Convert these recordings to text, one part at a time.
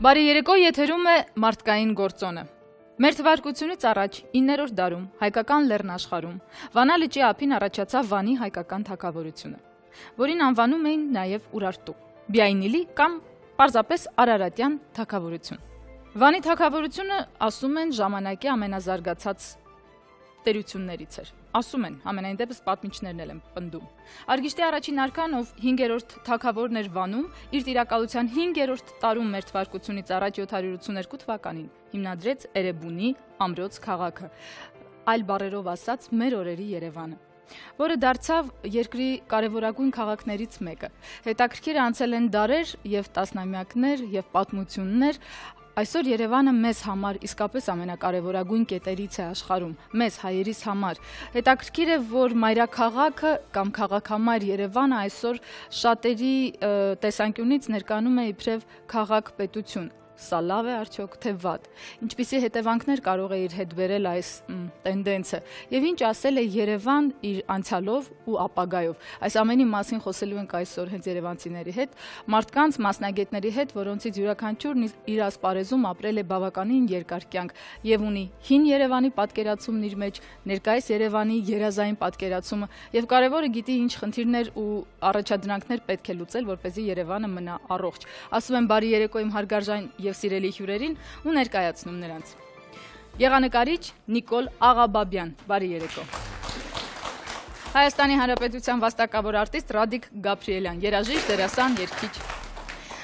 Բարի երեկո, եթերում է մարդկային գործոնը։ Մեր թվարկությունից առաջ 9-րդ դարում հայկական լեռնաշխարհում Վանա լճի ափին առաջացավ Վանի հայկական թագավորությունը, որին անվանում էին նաև Ուրարտու, Բիայնիլի կամ պարզապես Արարատյան թագավորություն։ Վանի թագավորությունը, ասում են, ժամանակի ամենազարգացած տերություններից էր։ Ասում են, համենայն դեպս պատմիչներն էլ են պնդում։ Արգիշտի առաջին արքան, ով 5-րդ թագավորն էր Վանում, իր տիրակալության 5-րդ տարում մեր թվարկությունից առաջ 782 թվականին հիմնադրեց Էրեբունի ամրոց քաղաքը, այլ բառերով ասած մեր օրերի Երևանը, որը դարձավ երկրի կարևորագույն քաղաքներից մեկը։ Հետաքրքիր անցել են դարեր եւ տասնամյակներ եւ պատմություններ։ Այսօր Երևանը մեզ համար իսկապես ամենակարևորագույն կետերից է աշխարհում, մեզ հայերիս համար։ Հետաքրքիր է, որ մայրաքաղաքը կամ քաղաքամայր Երևանը այսօր շատերի տեսանկյունից ներկայանում է իբրև քաղաք-պետություն։ Սա լավ է արդյոք, թե վատ։ Ինչպիսի հետևանքներ կարող է իր հետ բերել այս տենդենսը եւ ինչ ասել է Երևան իր անցյալով ու ապագայով։ Այս ամենի մասին խոսելու ենք այսօր հենց երևանցիների հետ, մարդկանց, մասնագետների հետ, որոնցից յուրաքանչյուրն իր ասպարեզում ապրել է բավականին երկար կյանք եւ ունի հին Երևանի պատկերացումն իր մեջ, ներկայիս Երևանի երազային պատկերացումը եւ կարեւորը գիտի ինչ խնդիրներ ու առաջադրանքներ պետք է լուծել, որպեսզի Երևանը մնա առողջ։ Ասում եմ բարի երեկո իմ հարգարժան եւ սիրելի հյուրերին ու ներկայացնում նրանց։ Եղանակարիչ Նիկոլ Աղաբաբյան, բարի երեկո։ Հայաստանի Հանրապետության վաստակավոր արտիստ Ռադիկ Գաբրիելյան, երաժիշտ, դերասան, երգիչ։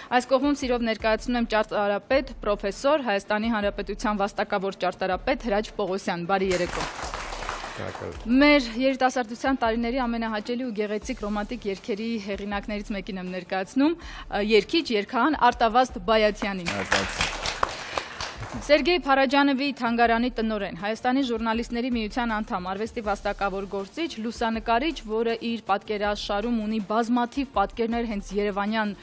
Այս կողմում սիրով ներկայացնում եմ ճարտարապետ, պրոֆեսոր, Հայաստանի Հանրապետության վաստակավոր ճարտարապետ Հրաչ Պողոսյան, բարի երեկո։ Մեր երիտասարդության տարիների ամենահաճելի ու գեղեցիկ ռոմանտիկ երգերի հեղինակներից մեկին եմ ներկայացնում, երգիչ, երգահան Արտավազդ Բայաթյանին։ Սերգեյ Փարաջանովի թանգարանի տնօրեն, Հայաստանի ժուրնալիստների միության անդամ, արվեստի վաստակավոր գործիչ, լուսանկարիչ, որը իր պատկերաշարում ունի բազմաթիվ պատկերներ հենց երևանյան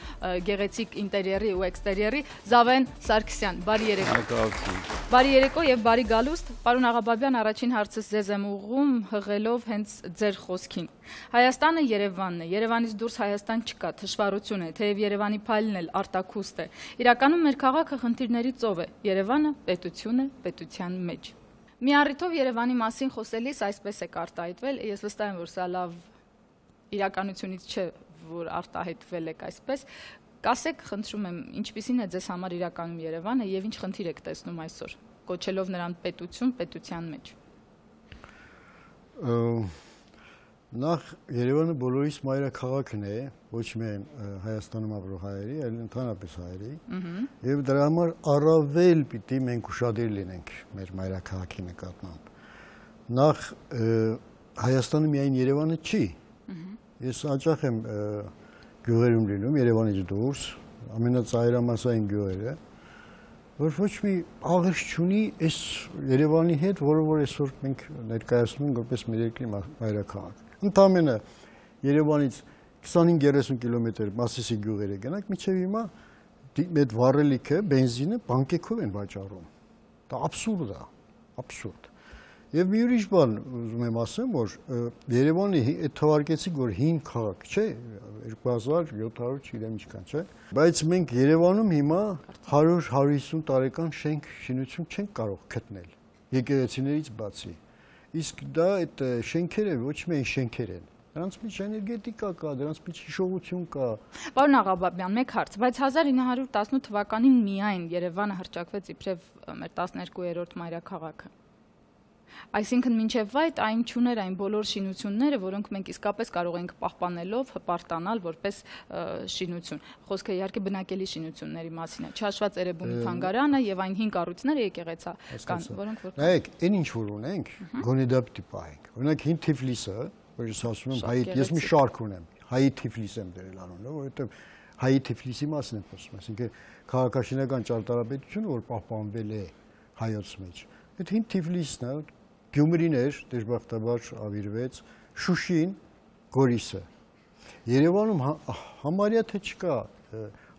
գեղեցիկ ինտերիերի ու էքստերիերի, Զավեն Սարգսյան, բարի երեկո։ Բարի երեկո եւ բարի գալուստ, պարոն Աղաբաբյան, առաջին հարցս ձեզ եմ ուղղում հղելով հենց ձեր խոսքին։ Հայաստանը Երևանն է, Երևանից դուրս Հայաստան չկա, թշվառություն է, թեև Երևանի փայլն էլ արտաքուստ է։ Իրականում մեր քաղաքը խնդիրների ծով է, Երևանը պետություն է, պետության մեջ։ Մի առիթով Երևանի մասին խոսելիս այսպես է արտահայտվել, ես վստահ եմ, որ սա լավ իրականությունից չէ, որ արտահայտվել եք այսպես։ Կասեք, խնդրում եմ, ինչպիսին է ձեզ համար իրականում Երևանը եւ ինչ խնդիր եք տեսնում այսօր, կոչելով նրան պետություն, պետության մեջ։ Նախ Երևանը բոլորիս մայրաքաղաքն է, ոչ միայն Հայաստանում ապրող հայերի, այլ ընդհանրապես հայերի, եւ դրա համար առավել պիտի մենք ուշադիր լինենք մեր մայրաքաղաքի նկատմամբ։ Նախ Հայաստանը միայն Երևանը չի։ Ես հաճախ եմ գյուղերում լինում, Երևանից դուրս, ամենածայրամասային գյուղերը, որ ոչ մի աղերս չունի այս Երևանի հետ, որը որ այսօր մենք ներկայացնում ենք որպես մեր երկրի մայրաքաղաք։ Ընդամենը Երևանից 25-30 կիլոմետր Մասիսի գյուղերը գնանք, մինչև հիմա այդ վառելիքը, բենզինը բանկեքով են վաճառում։ Դա աբսուրդ է, աբսուրդ։ Եվ մի ուրիշ բան ուզում եմ ասեմ, որ Երևանը այդ թվարկեցիք, որ հին քաղաք չէ, 2700 չգիտեմ ինչքան, չէ, բայց մենք Երևանում հիմա 100-150 տարեկան շենք շինություն չենք կարող գտնել եկեղեցիներից բացի։ Իսկ դա այդ շենքերը ոչ միայն շենքեր են, դրանց մեջ էներգետիկա կա, դրանց մեջ հիշողություն կա։ Պարոն Աղաբաբյան, մեկ հարց, բայց 1918 թվականին միայն Երևանը հռչակվեց իբրև մեր 12-րդ մայրաքաղաքը։ Այսինքն մինչև այդ այն չուներ այն բոլոր շինությունները, որոնք մենք իսկապես կարող ենք պահպանելով հպարտանալ որպես շինություն։ Խոսքը իհարկե բնակելի շինությունների մասին է, չհաշված Էրեբունի թանգարանը եւ այն 5 կառույցները եկեղեցական, որոնք որ նայեք, այն ինչ որ ունենք, գոնե դա պիտի պահենք։ Օրինակ հին Թիֆլիսը, որ ես ասում եմ հայ, ես մի շարք ունեմ, հայի Թիֆլիս եմ դրել անունը, որովհետեւ հայի Թիֆլիսի մասին եմ խոսում, այսինքն քաղաքաշինական ճարտարապետությունը, որ պահպանվել է հայոց մեջ։ Այդ հին Թիֆլիսն է, Գյումրին էր, դժբախտաբար ավիրվեց, Շուշին, Գորիսը։ Երևանում համարյա թե չկա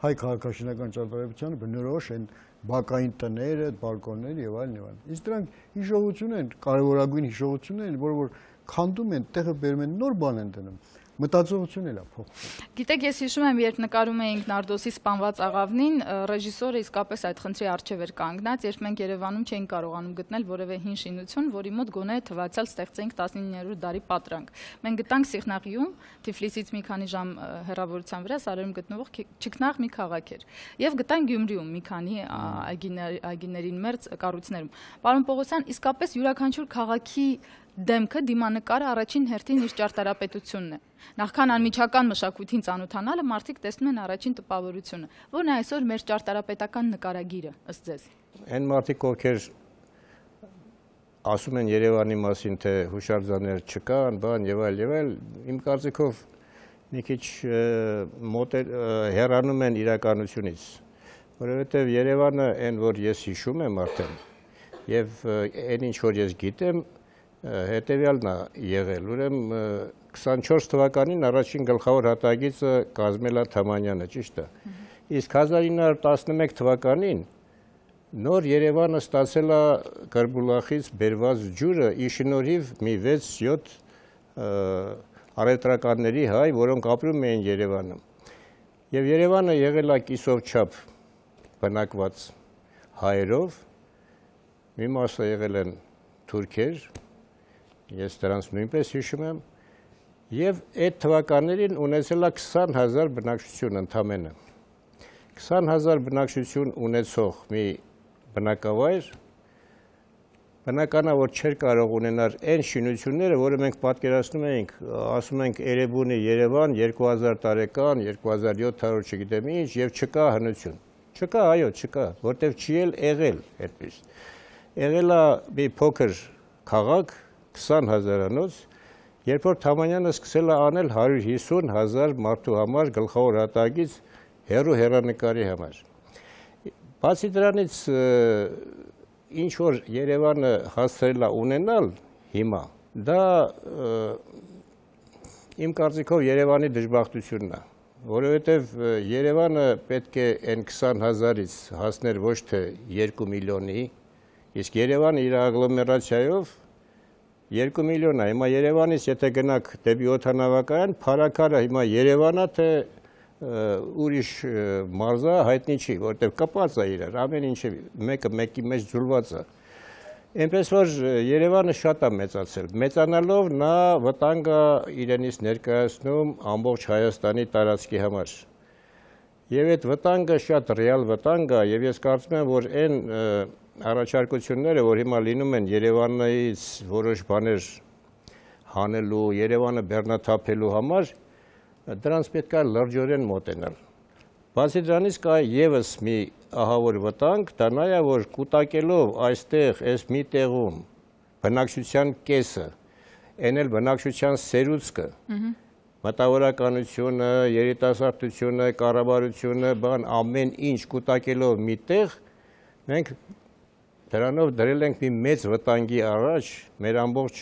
հայ քաղաքաշինական ճարտարապետությանը բնորոշ են բակային տները, բալկոնները եւ այլն եւ այլն։ Իսկ դրանք հիշողություն են, կարևորագույն հիշողություններ են, որ քանդում են, տեղը բերում են, նոր բան են դնում։ մտածողությունն էլ է փոխվում։ Գիտեք, ես հիշում եմ, երբ նկարում էինք Նարդոսի սպանված աղավնին, ռեժիսորը իսկապես այդ խնդրի առջև էր կանգնած, երբ մենք Երևանում չէինք կարողանում գտնել որևէ հին շինություն, որի մոտ գոնե թվացial ստեղծեինք 19-րդ դարի պատրանք։ Մենք գտանք Սիղնաղիում, Թիֆլիսից մի քանի ժամ հեռավորության վրա Սարերում գտնվող Չքնաղ մի քաղաք էր, եւ գտանք Գյումրիում մի քանի այգիներին մերձ կառույցներում։ Պարոն Պողոսյան, իսկապես յուրաքանչյուր քաղաքի դեմքը դիմանկարը առաջին հերթին իր ճարտարապետությունն է։ Նախքան անմիջական մշակույթին ծանոթանալը մարդիկ տեսնում են առաջին տպավորությունը, որն է այսօր մեր ճարտարապետական նկարագիրը, ըստ ձեզ։ Այն մարդիկ, ովքեր ասում են Երևանի մասին, թե հուշարձաններ չկան, բան եւ այլ, իմ կարծիքով մի քիչ հեռանում են իրականությունից, որովհետեւ Երևանը այն, որ ես հիշում եմ արդեն, եւ այն ինչ որ ես գիտեմ, հետևյալն է եղել, ուրեմն 24 թվականին առաջին գլխավոր հատագիծը կազմել է Թամանյանը, ճիշտ է։ Իսկ 1911 թվականին նոր Երևանը ստացել է Կրբուլախից բերված ջուրը ի շնորհիվ մի 6-7 առևտրականների հայ, որոնք ապրում էին Երևանում։ Եվ Երևանը եղել է կիսով չափ բնակված հայերով, մի մասը եղել են թուրքեր, ես դրանց նույնպես հիշում եմ, եւ այդ թվականներին ունեցել է 20,000 բնակչություն ընդամենը։ 20,000 բնակչություն ունեցող մի բնակավայր, բնական է, որ չէր կարող ունենալ այն շինությունները, որը մենք պատկերացնում էինք, ասում ենք Էրեբունի Երևան 2000 տարեկան, 2700 չգիտեմ ինչ, եւ չկա հնություն։ Չկա, այո, չկա, որտեվ չի էլ եղել այդպես։ Եղել է մի փոքր քաղաք 20,000-անոց, երբ որ Թամանյանը սկսել է անել 150,000 մարդու համար գլխավոր հատագից հեռու հեռանկարի համար։ Բացի դրանից ինչ որ Երևանը հասցրել է ունենալ հիմա, դա իմ կարծիքով Երևանի դժբախտությունն է, որովհետև Երևանը պետք է այն 20,000-ից հասներ ոչ թե 2 միլիոնի, իսկ Երևանը իր ագլոմերացիայով 2 միլիոն է, հիմա Երևանից եթե գնաք դեպի օդանավակայան, փարաքարը հիմա Երևանա թե ուրիշ մարզա հայտնի չի, որտեղ կապած է իրար, ամեն ինչը մեկը մեկի մեջ ձուլված է։ Այնպես որ Երևանը շատ է մեծացել, մեծանալով նա վտանգ է իրենից ներկայացնում ամբողջ Հայաստանի տարածքի համար։ Եվ այդ վտանգը շատ ռեալ վտանգ է, եւ ես կարծում եմ, որ այն առաջարկությունները, որ հիմա լինում են Երևանից որոշ բաներ հանելու, Երևանը բեռնաթափելու համար, դրանց պետք է լրջորեն մոտենալ։ Բացի դրանից կա եւս մի ահավոր վտանգ, դա նա է, որ կուտակելով այստեղ, այս մի տեղում բնակչության կեսը, այն էլ բնակչության սերուցքը, մտավորականությունը, երիտասարդությունը, կառավարությունը, բան ամեն ինչ կուտակելով մի տեղ, մենք դրանով դրել ենք մի մեծ վտանգի առաջ մեր ամբողջ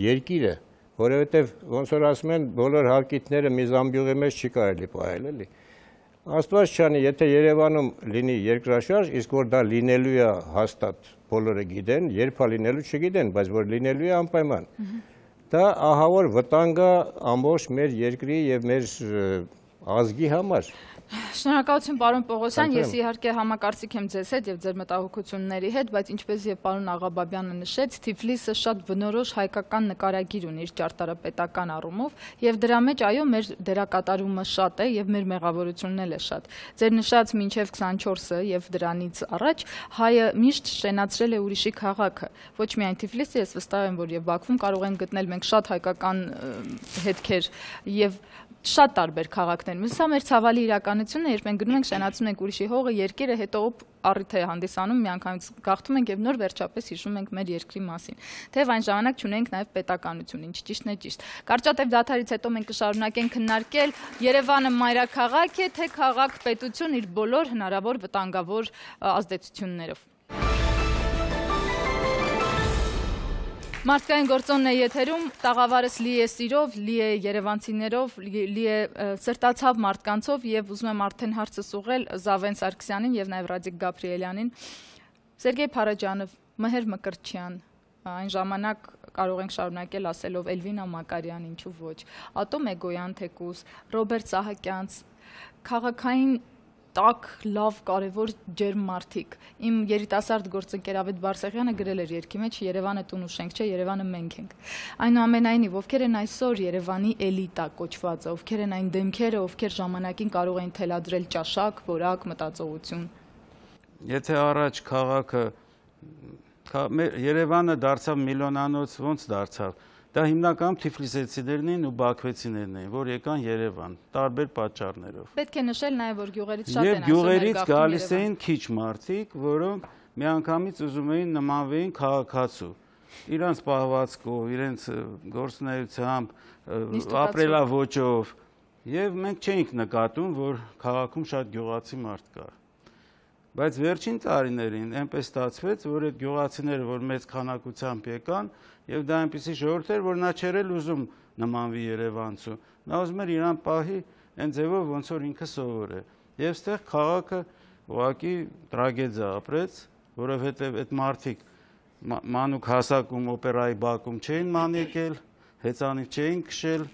երկիրը, որովհետև ոնց որ ասում են, բոլոր հարկիթները մի զամբյուղի մեջ չի կարելի պահել, էլի։ Աստված չանի, եթե Երևանում լինի երկրաշարժ, իսկ որ դա լինելու է հաստատ բոլորը գիտեն, երբ է լինելու չգիտեն, բայց որ լինելու է անպայման։ Դա ահավոր վտանգ է ամբողջ մեր երկրի եւ մեր ազգի համար։ Շնորհակալություն պարոն Պողոսյան, ես իհարկե համակարծիք եմ ձեզ հետ եւ ձեր մտահոգությունների հետ, բայց ինչպես եւ պարոն Աղաբաբյանը նշեց, Թիֆլիսը շատ բնորոշ հայկական նկարագիր ունի իր ճարտարապետական առումով եւ դրա մեջ այո մեր դերակատարումը շատ է եւ մեր մեղավորությունն էլ է շատ։ Ձեր նշած մինչեւ 24-ը եւ դրանից առաջ հայը միշտ շենացրել է ուրիշի քաղաքը, ոչ միայն Թիֆլիսը, ես վստահ եմ, որ եւ Բաքվում կարող են գտնել մենք շատ հայկական հետքեր եւ շատ տարբեր քաղաքներում։ Սա մեր ցավալի իրականությունն է, երբ մենք գնում ենք շենացնում ենք ուրիշի հողը, երկիրը, հետո առիթ է հանդիսանում, միանգամից գաղթում ենք եւ նոր վերջապես հիշում ենք մեր երկրի մասին։ Թեև այն ժամանակ չունենք նաեւ պետականություն, ինչ ճիշտն է ճիշտ։ Կարճատև դադարից հետո մենք կշարունակենք քննարկել Երևանը մայրաքաղաք է, թե քաղաք-պետություն իր բոլոր հնարավոր վտանգավոր ազդեցություններով։ Մարդկային գործոնն է եթերում, տաղավարս լի է սիրով, լի է երևանցիներով, լի է սրտացավ մարդկանցով եւ ուզում եմ արդեն հարցս ուղղել Զավեն Սարգսյանին եւ նաեւ Ռադիկ Գաբրիելյանին, Սերգեյ Փարաջանով, Մհեր Մկրտչյան, այն ժամանակ կարող ենք շարունակել ասելով Էլվինա Մակարյան, ինչու ոչ, Ատոմ Էգոյան թեկուզ, Ռոբերտ Սահակյանց, քաղաքային տակ, լավ, կարևոր ջերմ մարդիկ։ Իմ երիտասարդ գործընկեր Ավետ Բարսեղյանը գրել էր երգի մեջ Երևանը տուն ու շենք չէ, Երևանը մենք ենք։ Այնուամենայնիվ, ովքեր են այսօր Երևանի էլիտա կոչվածը, ովքեր են այն դեմքերը, ովքեր ժամանակին կարող են թելադրել ճաշակ, որակ, մտածողություն։ Եթե առաջ քաղաքը Երևանը դարձավ միլիոնանոց, ոնց դարձավ։ Դա հիմնականում թիֆլիսեցիներն էին ու բաքվեցիներն էին, որ եկան Երևան, տարբեր պատճառներով։ Պետք է նշել նաև, որ գյուղերից շատ են ասում գյուղերից գալիս էին քիչ մարդիկ, որոնք միանգամից ուզում էին նմանվեին քաղաքացու։ Իրանց պահվածքով, իրենց գործունեությամբ, ապրելաոճով, եւ մենք չէինք նկատում, որ քաղաքում շատ գյուղացի մարդ կա։ Բայց վերջին տարիներին այնպես ստացվեց, որ այդ գյուղացիները, որ մեծ քանակությամբ եկան, եւ դա այնպեսի ժողովուրդ էր, որ նա չէր ուզում նմանվի երևանցու։ Նա ուզում էր իրան պահի այն ձևով, ոնց որ ինքը սովոր է։ Եվ այստեղ քաղաքը ուղղակի տրագեդիա ապրեց, որովհետեւ այդ մարդիկ մանուկ հասակում օպերայի բակում չէին ման եկել, հեծանիվ չէին քշել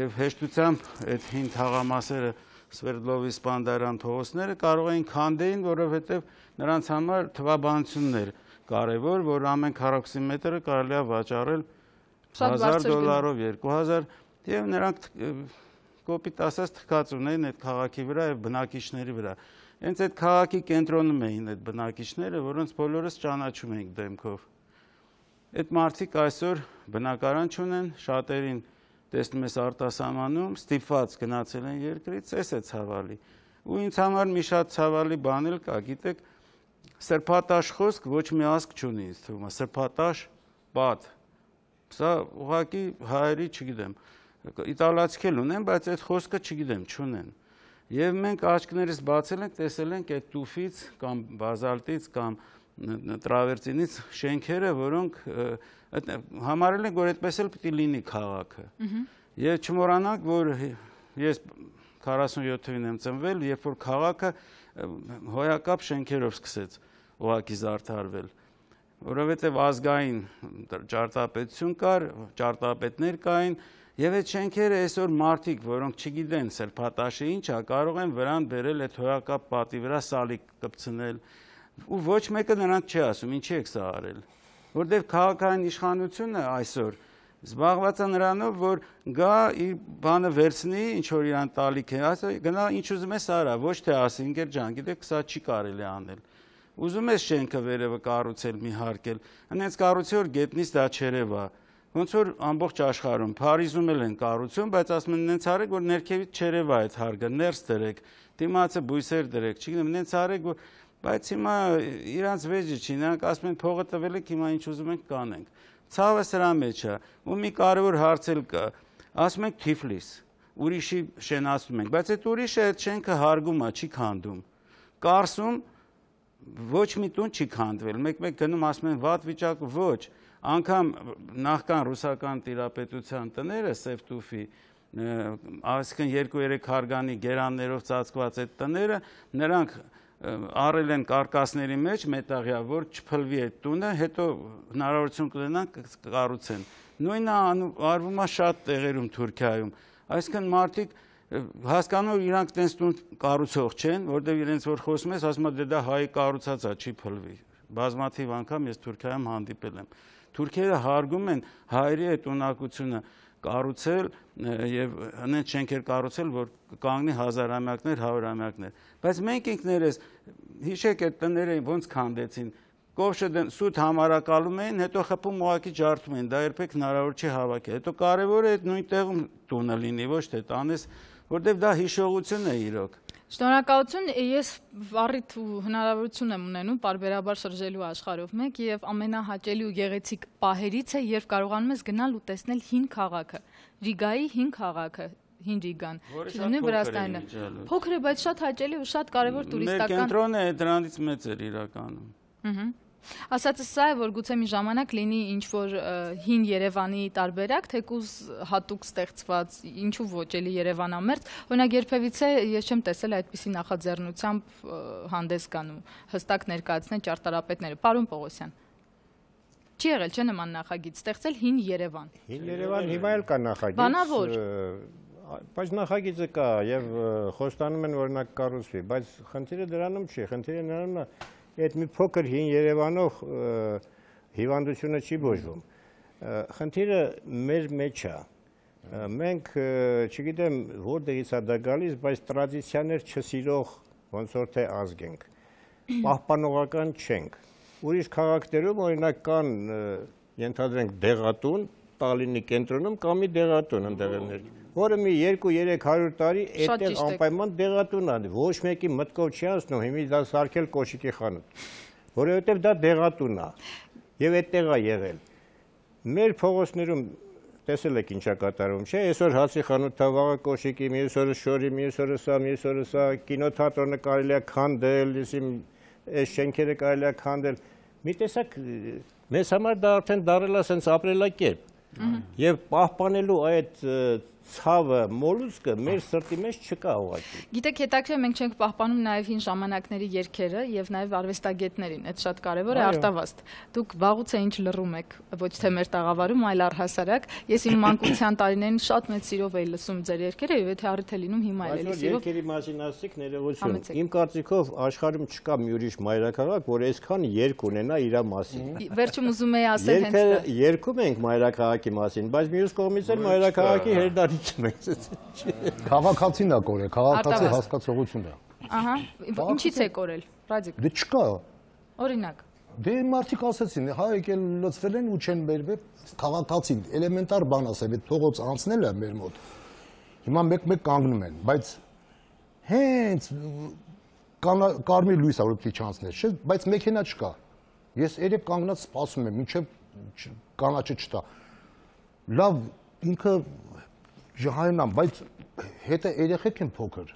եւ հեշտությամբ այդ հին թաղամասերը Սվերդլովի Սպանդարյան փողոցները կարող էին քանդեին, որովհետև նրանց համար թվաբանությունն էր կարևոր, որ ամեն քառակուսի մետրը կարելի է վաճառել $1000, 2000, եւ նրանք կոպիտ ասած թքած ունեին այդ քաղաքի վրա եւ բնակիչների վրա։ Հենց այդ քաղաքի կենտրոնում էին այդ բնակիչները, որոնց բոլորս ճանաչում ենք դեմքով։ Այդ մարդիկ այսօր բնակարան չունեն, շատերին տեսնում ես արտասահմանում, ստիպված գնացել են երկրից, էս է ցավալի։ Ու ինձ համար մի շատ ցավալի բան էլ կա, գիտեք, սրբատաշ խոսք ոչ մի ազգ չունի, ինձ թվում է, սրբատաշ պատ։ Սա ուղղակի հայերի, չգիտեմ, իտալացիք էլ ունեն, բայց այդ խոսքը չգիտեմ, չունեն։ Եվ մենք աչքներս բացել ենք, տեսել ենք այդ տուֆից կամ բազալտից կամ տրավերտինից շենքերը, որոնք համարել ենք, որ այդպես էլ պիտի լինի քաղաքը։ Եվ չմոռանանք, որ ես 47 թվականին եմ ծնվել, երբ որ քաղաքը հոյակապ շենքերով սկսեց ուղղակի զարդարվել, որովհետև ազգային ճարտարապետություն կար, ճարտարապետներ կային, եւ այդ շենքերը այսօր մարդիկ, որոնք չգիտեն սրբատաշը ինչ է, կարող են վրան բերել այդ հոյակապ պատի վրա սալիկ կպցնել, ու ոչ մեկը նրանց չի ասում, ինչի եք սա արել։ Որտեղ քաղաքային իշխանությունը այսօր զբաղված է նրանով, որ գա իր բանը վերցնի, ինչ որ իրան տալիք է, ասա գնա ինչ ուզում ես արա, ոչ թե ասի ինքեր ջան, գիտեք, սա չի կարելի անել։ Ուզում ես շենքը վերևը կառուցել, մի հարկել, հենց կառուցի որ գետնից դա չերևա։ Ոնց որ ամբողջ աշխարհում Փարիզում էլ են կառուցում, բայց ասում են նենց արեք, որ ներքևից չերևա այդ հարկը, ներս դրեք, դիմացը բույսեր դրեք, չգիտեմ, նենց արեք, որ բայց հիմա իրանց վեճը չի, նրանք ասում են փողը տվել եք, հիմա ինչ ուզում ենք կանենք։ Ցավը սրա մեջ է, ու մի կարևոր հարց էլ կա, ասում ենք Թիֆլիս, ուրիշի շենացնում ենք, բայց այդ ուրիշը այդ շենքը հարգում է, չի քանդում։ Կարսում ոչ մի տուն չի քանդվել, մեկ-մեկ գնում ասում են վատ վիճակ, ոչ, անգամ նախքան ռուսական տիրապետության տները Սևտուֆի, այսինքն 2-3 հարգանի գերաններով ծածկված այդ տները, նրանք առել են կարկասների մեջ մետաղյա, որ չփլվի այդ տունը, հետո հնարավորություն կունենան կառուցեն։ Նույնը արվում է շատ տեղերում Թուրքիայում։ Այսինքն մարդիկ հասկանում իրանք տենց տուն կառուցող չեն, որտեղ իրենց որ խոսում ես, ասում է դա հայի կառուցած է, չի փլվի։ Բազմաթիվ անգամ ես Թուրքիայում հանդիպել եմ։ Թուրքերը հարգում են հայերի այդ ունակությունը կառուցել եւ հենց շենքեր կառուցել, որ կանգնի հազարամյակներ, հարյուրամյակներ։ Բայց մենք ինքներս հիշեք այդ տները ոնց քանդեցին, կովշը սուտ համարակալում էին, հետո խփում ուղակի ջարդում են, դա երբեք հնարավոր չի հավաքել։ Հետո կարևորը այդ նույն տեղում տունը լինի, ոչ թե տանես, որտեղ դա հիշողություն է իրոք։ Շնորհակալություն, ես առիթ ու հնարավորություն եմ ունենում պարբերաբար շրջելու աշխարհով մեկ եւ ամենահաճելի ու գեղեցիկ պահերից է, երբ կարողանում ես գնալ ու տեսնել հին քաղաքը, Ռիգայի հին քաղաքը, հին Ռիգան, չլինի Վրաստանը։ Փոքր է, բայց շատ հաճելի ու շատ կարևոր տուրիստական։ Մեր կենտրոնը դրանից մեծ էր իրականում։ Ասածը սա է, որ գուցե մի ժամանակ լինի ինչ-որ հին Երևանի տարբերակ, թեկուզ հատուկ ստեղծված, ինչու ոչ էլի Երևանամերձ, օրինակ երբևիցե ես չեմ տեսել այդպիսի նախաձեռնությամբ հանդես գան ու հստակ ներկայացնեն ճարտարապետները։ Պարոն Պողոսյան։ Չի եղել չէ նման նախագիծ, ստեղծել հին Երևան։ Հին Երևան հիմա էլ կա նախագիծ։ Բանավոր։ Բայց նախագիծը կա եւ խոստանում են օրինակ կառուցվի, բայց խնդիրը դրանում չի, խնդիրը նրանում է այդ մի փոքր հին Երևանով հիվանդությունը չի բուժվում։ Խնդիրը մեր մեջ է։ Մենք չգիտեմ որտեղից է դա գալիս, բայց տրադիցիաներ չսիրող ոնց որ թե ազգ ենք։ Պահպանողական չենք։ Ուրիշ քաղաքներում օրինակ կան ենթադրենք դեղատուն, Տալինի կենտրոնում կա մի դեղատուն ընդեղներ, որը մի 2-300 տարի այդտեղ անպայման դեղատուն է, ոչ մեկի մտքով չի անցնում հիմի դա սարքել կոշիկի խանութ, որովհետև դա դեղատուն է եւ այդտեղ է եղել։ Մեր փողոցներում տեսել եք ինչա կատարում, չէ՞, այսօր հացի խանութ վաղը կոշիկի, մյուս օրը շորի, մյուս օրը սա, կինոթատրոնը կարելի է քանդել, այս շենքերը կարելի է քանդել։ Մի տեսակ մեզ համար դա արդեն դարել է sense ապրելակերպ։ Եվ պահպանելու այդ ցավը, մոլուսկը մեր սրտի մեջ չկա ուղղակի։ Գիտեք, հետաքրքիր մենք չենք պահպանում նաև հին ժամանակների երգերը եւ նաև արվեստագետներին, այդ շատ կարեւոր է արտավազդ։ Դուք վաղուց է ինչ լռում եք, ոչ թե մեր տաղավարում, այլ առհասարակ։ Ես իմ մանկության տարիներին շատ մեծ սիրով էի լսում ձեր երգերը եւ եթե առիթ է լինում հիմա էլ էլի սիրով։ Երգերի մասին ասիք ներողություն։ Իմ կարծիքով աշխարհում չկա մի ուրիշ մայրաքաղաք, որ այսքան երգ ունենա իր մասին։ Վերջում ուզում եի ասել հենց դա։ Երգում ենք մայրաքաղաքի մասին, բայց մյուս կողմից էլ մայրաքաղաքի հերդարից մենք։ Քաղաքացին է կորել, քաղաքացի հասկացողությունն է։ Ահա, ինչի՞ց է կորել, Ռադիկ։ Դե չկա։ Օրինակ։ Դե մարդիկ ասեցին, հա եկել լծվել են ու չեն բերվել, քաղաքացին էլեմենտար բան ասել, այդ փողոց անցնել է մեր մոտ։ Հիմա մեկ կանգնում են, բայց հենց կարմիր լույս է որ պիտի չանցներ, չէ՞, բայց մեքենա չկա։ Ես երեք կանգնած սպասում եմ, մինչև կանաչը չտա։ Լավ, ինքը ժահայնամ, բայց հետը երեխեք են փոքր։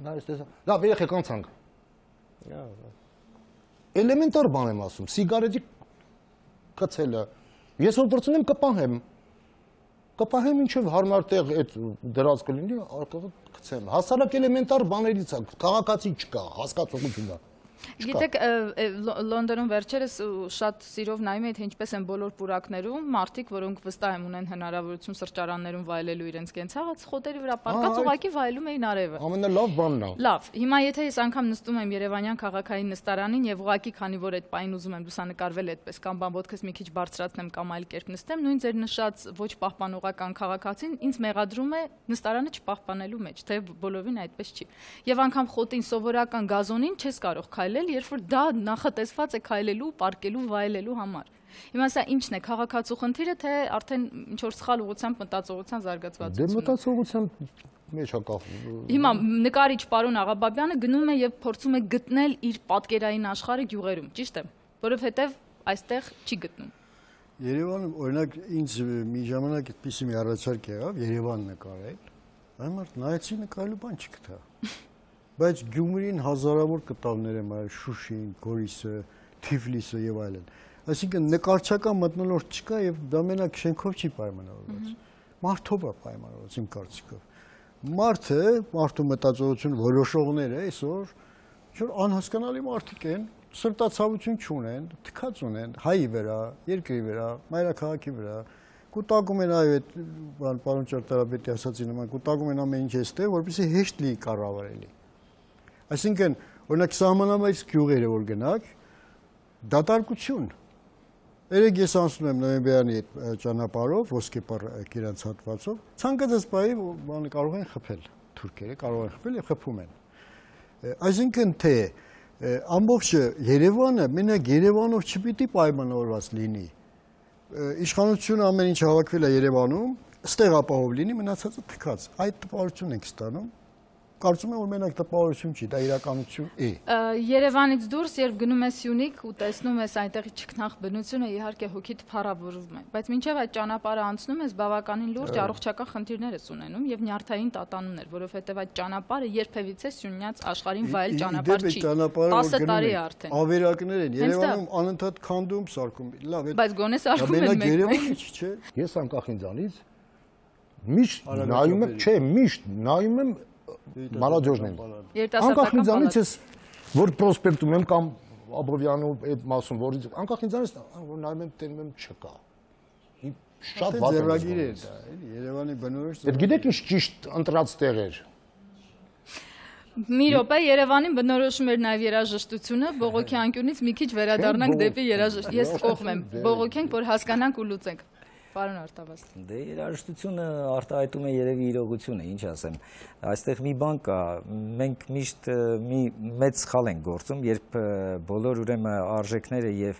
Դա էստես։ Լավ, երեխեք անցանք։ Էլեմենտար բան եմ ասում, սիգարետի կցելը։ Ես որ դրցնեմ կպահեմ ինչև հարմար տեղ այդ դրած կլինի, կցեմ։ Հասարակ էլեմենտար բաներից է, քաղաքացի չկա, հասկացողություն է։ Գիտեք, Լոնդոնում վերջերս շատ սիրով նայում էի, թե ինչպես են բոլոր պուրակներում մարդիկ, որոնք վստահ եմ ունեն հնարավորություն սրճարաններում վայելելու իրենց կենցաղը, խոտերի վրա պառկած ուղղակի վայելում էին արևը։ Ամենալավ բանն է։ Լավ, հիմա եթե ես անգամ նստում եմ Երևանյան քաղաքային նստարանին եւ ուղղակի քանի որ այդ պայն ուզում եմ լուսանկարվել այդպես կամ բան ոտքս մի քիչ բարձրացնեմ կամ այլ կերպ նստեմ, նույն ձեր նշած ոչ պահպանողական քաղաքացին ինձ մեղադրում է նստարանը չպահպանելու մեջ, թե բոլորին այդպես չի։ Եւ անգամ խոտին սովորական գազոնին չես կարող քայլել, երբ որ դա նախատեսված է քայլելու, պարկելու, վայելելու համար։ Հիմա սա ի՞նչն է, քաղաքացու խնդիրը, թե արդեն ինչ որ սխալ ուղղությամբ մտածողության զարգացվածությունը։ Դե մտածողության մեջ է կախ։ Հիմա նկարիչ պարոն Աղաբաբյանը գնում է եւ փորձում է գտնել իր պատկերային աշխարհը գյուղերում, ճիշտ է, որովհետեւ այստեղ չի գտնում։ Երևանը օրինակ ինձ մի ժամանակ այդպիսի մի առաջարկ եղավ Երևան նկարել, այմարդ նայեցի նկարելու բան չգտա։ Բայց Գյումրին հազարավոր կտավներ եմ արել, Շուշին, Գորիսը, Թիֆլիսը եւ այլն։ Այսինքն նկարչական մթնոլորտ չկա եւ դա մենակ շենքով չի պայմանավորված։ Մարդով է պայմանավորված իմ կարծիքով։ Մարդու մտածողություն որոշողները այսօր ինչ-որ անհասկանալի մարդիկ են, սրտացավություն չունեն, թքած ունեն հայի վրա, երկրի վրա, մայրաքաղաքի վրա, կուտակում են այո այդ բան պարոն Ճարտարապետի ասացի նման, կուտակում են ամեն ինչ էստեղ, որպեսզի հեշտ լինի կառավարելի։ Այսինքն, օրինակ սահմանամերձ գյուղերը որ գնաք, դատարկություն։ Երեք ես անցնում եմ նոյեմբերյանի այդ ճանապարհով, ոսկեպար Կիրանց հատվածով, ցանկացած բայի բանը կարող են խփել, թուրքերը կարող են խփել եւ խփում են։ Այսինքն թե ամբողջ Երևանը մենակ Երևանով չպիտի պայմանավորված լինի։ Իշխանությունը ամեն ինչ հավաքվել է Երևանում, ստեղ ապահով լինի, մնացածը թքած։ Այդ տպավորությունն ենք ստանում։ Կարծում եմ որ մենակ տպավորություն չի, դա իրականություն է։ Երևանից դուրս, երբ գնում ես Սյունիք ու տեսնում ես այնտեղի ճգնախ բնությունը, իհարկե հոգիդ փառավորվում է, բայց մինչև այդ ճանապարհը անցնում ես բավականին լուրջ առողջական խնդիրներ ես ունենում եւ նյարդային տատանումներ, որովհետեւ այդ ճանապարհը երբևիցե Սյունյաց աշխարհին վայել ճանապարհ չի։ 10 տարի է արդեն։ Ավերակներ են Երևանում անընդհատ քանդում, սարքում։ Լավ, բայց գոնե սարքում են մեկ։ Երևանը չէ։ Ես անկախ ինձանից միշտ նայում եմ, չէ, միշտ նայում եմ Մալաջոժն են։ Անկախ ինձանից ես որ պրոսպեկտում եմ կամ Աբովյանի այդ մասում, որից անկախ ինձանից որ նայում եմ տենում եմ չկա։ Շատ վատ ձեռագիր է դա, էլի Երևանի բնորոշ։ Այդ գիտեք ինչ ճիշտ ընտրած տեղեր։ Մի րոպե Երևանին բնորոշում էր նաև երաժշտությունը, բողոքի անկյունից մի քիչ վերադառնանք դեպի երաժշտություն։ Ես կողմ եմ, բողոքենք, որ հասկանանք ու լուծենք։ Պարոն Արտավազդ։ Դե երաժշտությունը արտահայտում է երևի իրողությունը, ինչ ասեմ։ Այստեղ մի բան կա, մենք միշտ մի մեծ սխալ ենք գործում, երբ բոլոր ուրեմն արժեքները եւ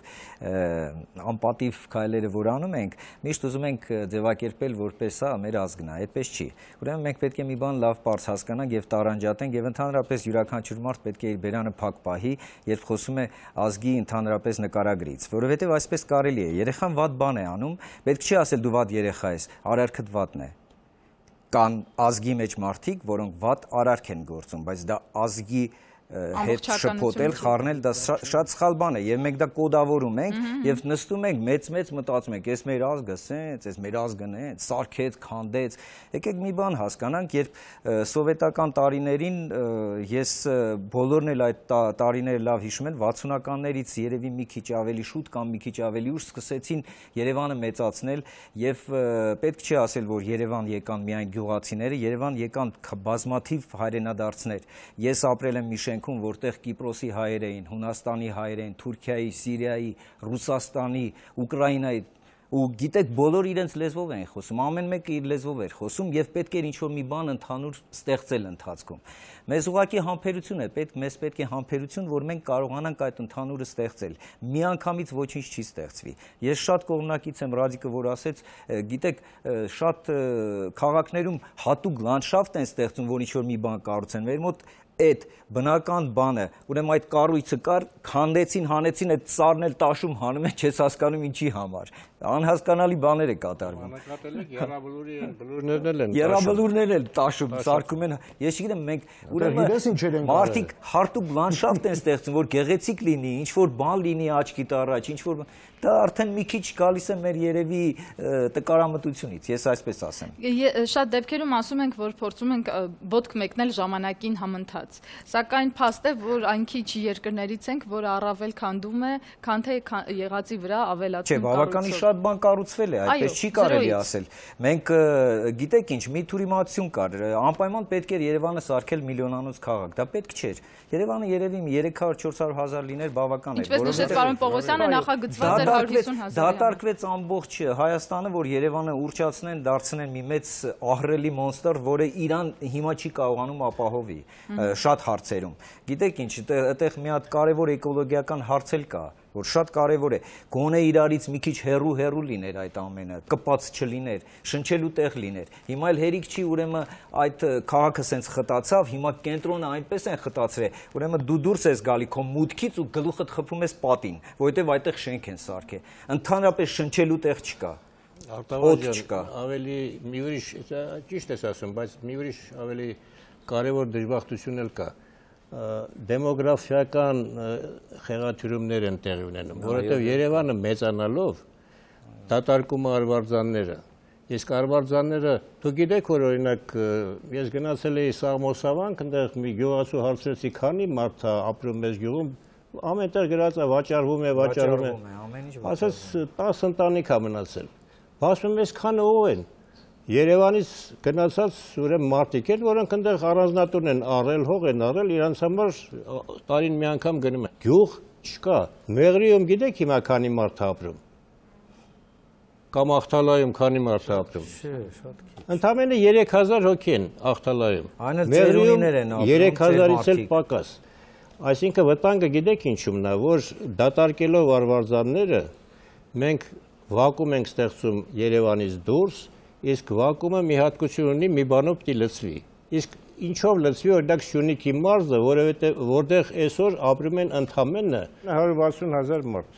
անպատիվ քայլերը որ անում ենք, միշտ ուզում ենք ձևակերպել որպես սա մեր ազգն է, այդպես չի։ Ուրեմն մենք պետք է մի բան լավ բարձ հասկանանք եւ տարանջատենք եւ ընդհանրապես յուրաքանչյուր մարդ պետք է իր բերանը փակ պահի, երբ խոսում է ազգի ընդհանրապես նկարագրից, որովհետեւ այսպես կարելի է։ Երեխան վատ բան է անում, պետք չի ասել դու վատ երեխա ես, արարքդ վատն է։ Կան ազգի մեջ մարդիկ, որոնք վատ արարք են գործում, բայց դա ազգի հետ շփոթել, խառնել, դա շատ սխալ բան է եւ մենք դա կոդավորում ենք եւ նստում ենք մեծ մտածում ենք, ես մեր ազգը սենց, ես մեր ազգն է, սարքեց, քանդեց։ Եկեք մի բան հասկանանք, երբ սովետական տարիներին ես բոլորն էլ այդ տարիները լավ հիշում են, 60-ականներից երևի մի քիչ ավելի շուտ կամ մի քիչ ավելի ուշ սկսեցին Երևանը մեծացնել եւ պետք չի ասել, որ Երևան եկան միայն գյուղացիները, Երևան եկան բազմաթիվ հայրենադարձներ։ Ես ապրել եմ մի շենքում, որտեղ Կիպրոսի հայեր էին, Հունաստանի հայեր էին, Թուրքիայի, Սիրիայի, Ռուսաստանի, Ուկրաինայի ու գիտեք բոլոր իրենց լեզվով են խոսում, ամեն մեկը իր լեզվով էր խոսում եւ պետք էր ինչ-որ մի բան ընդհանուր ստեղծել ընթացքում։ Մեզ ուղղակի համբերություն է պետք, մեզ պետք է համբերություն, որ մենք կարողանանք այդ ընդհանուրը ստեղծել։ Միանգամից ոչինչ չի ստեղծվի։ Ես շատ կողմնակից եմ Ռադիկը, որ ասեց, գիտեք, շատ քաղաքներում հատուկ լանդշաֆտ են ստեղծում, որ ինչ-որ մի բան կառուցեն։ Մեր մոտ այդ բնական բանը, ուրեմն այդ կառույցը կար, քանդեցին, հանեցին, այդ ծառն էլ տաշում հանում է, չես հասկանում ինչի համար։ Անհասկանալի բաներ է կատարվում։ Եռաբլուրներն էլ տաշում, սարքում են։ Ես չգիտեմ, մենք ուրեմն մարդիկ հարտուկ լանդշաֆտ են ստեղծում, որ գեղեցիկ լինի, ինչ որ բան լինի աչքիդ առաջ, ինչ որ դա արդեն մի քիչ գալիս է մեր երևի տկարամտությունից, ես այսպես ասեմ։ Շատ դեպքերում ասում ենք, որ փորձում ենք ոտք մեկնել ժամանակին համընթաց, սակայն փաստ է, որ այն քիչ երկրներից ենք, որ առավել քանդում է, քան թե եղածի վրա ավելացում կառուցում։ Չէ, բավականին շատ բան կառուցվել է, այդպես չի կարելի ասել։ Մենք գիտեք ինչ, մի թուրիմացություն կար, անպայման պետք էր Երևանը սարքել միլիոնանոց քաղաք, դա պետք չէր։ Երևանը երևի 300-400 հազար լիներ բավական էր։ Ինչպես նշեց պարոն Պողոսյանը, նախագծված էր 150 000։ Դատարկվեց ամբողջ Հայաստանը, որ Երևանը ուռճացնեն, դարձնեն մի մեծ ահռելի մոնստր, որը Իրան հիմա չի կարողանում ապահովի շատ հարցերում։ Գիտեք ինչ, այդտեղ մի հատ կարևոր էկոլոգիական հարց էլ կա, որ շատ կարևոր է, գոնե իրարից մի քիչ հեռու լիներ այդ ամենը, կպած չլիներ, շնչելու տեղ լիներ։ Հիմա էլ հերիք չի, ուրեմն այդ քաղաքը սենց խտացավ, հիմա կենտրոնը այնպես են խտացրել, ուրեմն դու դուրս ես գալի քո մուտքից ու գլուխդ խփում ես պատին, որովհետև այդտեղ շենք են սարքել։ Ընդհանրապես շնչելու տեղ չկա։ Արտավազդ, ավելի մի ուրիշ, ճիշտ ես ասում, բայց մի ուրիշ ավելի կարևոր դժբախտություն էլ կա։ Դեմոգրաֆիական խեղաթյուրումներ են տեղի ունենում, որովհետև Երևանը մեծանալով դատարկում է արվարձանները։ Իսկ արվարձանները, դուք գիտեք, որ օրինակ ես գնացել էի Սաղմոսավանք, այնտեղ մի գյուղացու հարցրեցի, քանի մարդ է ապրում մեզ գյուղում, ամենտեղ գրած է վաճառվում է, ասես 10 ընտանիք է մնացել։ Ասում ես քանը ով են։ Երևանից գնացած ուրեմն մարդիկ են, որոնք այնտեղ առանձնատուն են առել, հող են առել, իրանց համար տարին մի անգամ գնում են։ Գյուղ չկա։ Մեղրիում գիտեք հիմա քանի մարդ է ապրում։ Կամ Ախտալայում քանի մարդ է ապրում։ Ընդամենը 3000 հոգի են Ախտալայում։ Մեղրիումներ են ապրում 3000-ից էլ պակաս։ Այսինքն վտանգը գիտեք ինչումն է, որ դատարկելով արվարձանները մենք վակուում ենք ստեղծում Երևանից դուրս, իսկ վակումը մի հատկություն ունի, մի բանով պիտի լցվի։ Իսկ ինչով լցվի, օրինակ Սյունիքի մարզը, որտեղ այսօր ապրում են ընդամենը 160 000 մարդ։